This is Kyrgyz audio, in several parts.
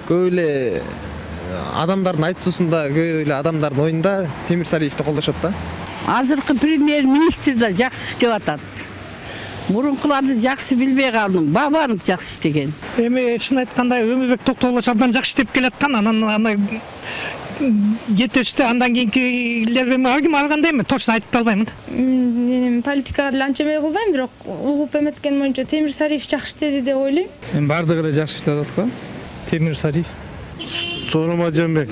көп эле адамдардын айтуусунда, көп эле адамдардын оюнда Темир Сариевди колдошот да. Азыркы премьер-министр да жакшы иштеп атат. Мурункуларды жакшы билбей калдым. Бабанов жакшы иштеген. Эми чын айтканда Өмүрбек Токтогулович абдан жакшы иштеп келаткан. Анан жетешти андан кийинкилер эми алгандай эми точно айтып албаймын. Мен политикага деле анча эмне кылбайм, бирок угуп эметкен боюнча Темир Сариев жакшы иштеди деп ойлойм. Мен бардыгы эле жакшы иштеп атат го. Темир Сариев. Сооронбай.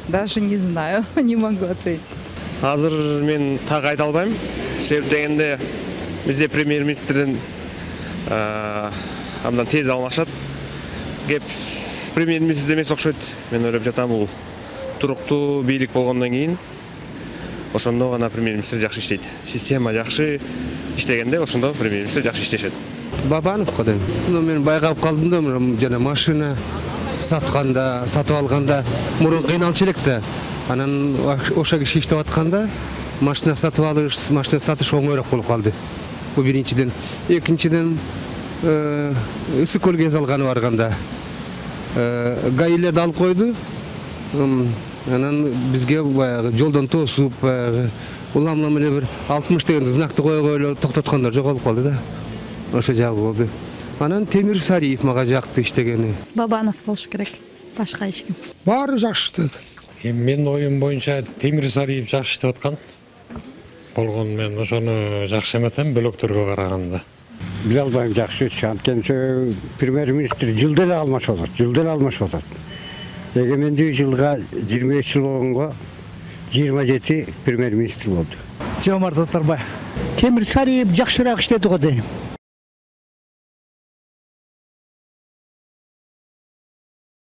Даже не знаю, не могу ответить. Азыр мен так айта албайм. Себеп дегенде бизде премьер-министрден абдан тез алмашат. Кеп премьер-министр эмес окшойт. Мен ойлоп жатам, бул туруктуу бийлик болгондон кийин ошондо гана премьер-министр жакшы иштейт. Система жакшы иштегенде ошондо премьер-министр жакшы иштешет. Бабановго дейм. Мен байкап калдым да, жана машина сатып алганда мурун кыйналчу элек да. Анан ошо киши иштеп атканда машина сатып алыш, машина сатыш оңойрок болуп калды. Бул биринчиден. Экинчиден ысык көл гез алганы барганда гаилерди алып койду. Анан бизге баягы жолдон тосуп, улам эле бир 60 деген знакты койгойло токтоткондор жоголуп калды да. Ошо жагы болду. Анан Темир Сариев мага жакты иштегени. Бабанов болуш керек. Башка эч ким. Баары жакшы иштеди. Менин оюм боюнча Темир Сариев жакшы иштеп аткан. Болгон мен ошону жакшы эметем бөлөктөргө караганда. Биле албайм жакшы иш. Анткени премьер-министр жылда эле алмашып атат. Эгемендүү жылга 23 жыл болгонго 27 премьер-министр болду. Жомарт Оторбаев. Темир Сариев жакшыраак иштеди го дейм.